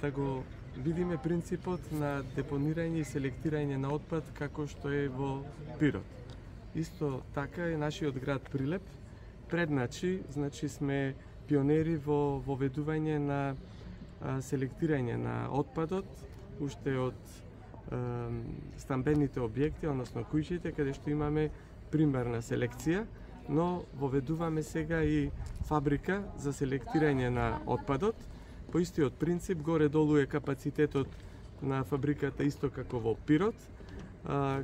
да го видиме принципот на депонирање и селектирање на отпад како што е во Пирот. Исто така е нашиот град Прилеп. Предначи, значи сме пионери во воведување на селектирање на отпадот, уште од стамбените објекти, односно куќите, каде што имаме примерна селекција, но воведуваме сега и фабрика за селектирање на отпадот. По истиот принцип, горе-долу е капацитетот на фабриката исто како во Пирот,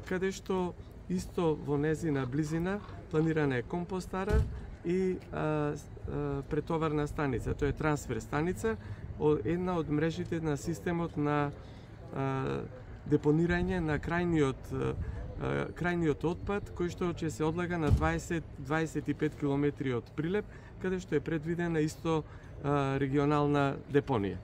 каде што исто во незина близина планирана е компостара и претоварна станица, тоа е трансфер станица, една од мрежите на системот на депонирање на крајниот отпад, кој што ќе се одлага на 20-25 километри од Прилеп, каде што е предвидена исто регионална депонија.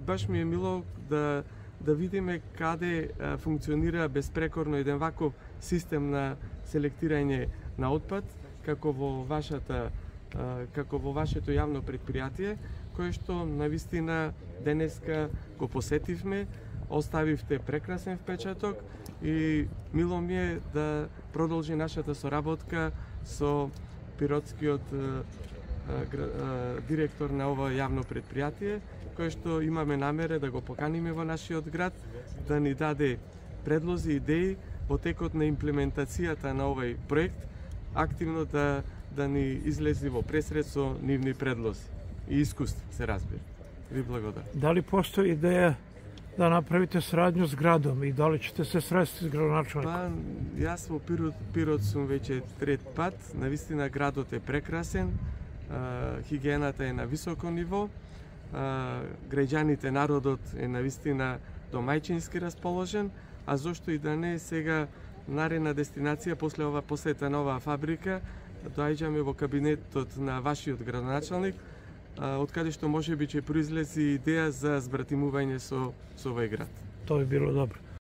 Баш ми е мило да видиме каде функционира безпрекорно еден ваков систем на селектирање на отпад, како во вашето јавно предпријатие, кое што навистина денеска го посетивме, оставивте прекрасен впечаток и мило ми е да продолжи нашата соработка со пиротскиот директор на ова јавно предпријатие, кој што имаме намера да го поканиме во нашиот град, да ни даде предлози и идеи во текот на имплементацијата на овој проект, активно да ни излези во пресред со нивни предлози и искуство, се разбира. Ви благодарам. Дали постои идеја да направите сарадњу с градом и дали ćete се срести с градоначелником? Па, јас во Пирот сум веќе трет пат. Навистина градот е прекрасен, хигиената е на високо ниво, граѓаните, народот е навистина домајчински расположен, а зошто и да не сега нарена дестинација после ова посета на оваа фабрика, доаѓаме во кабинетот на вашиот градоначелник, од каде што можеби ќе произлези идеја за збратимување со овој град. Тоа би било добро.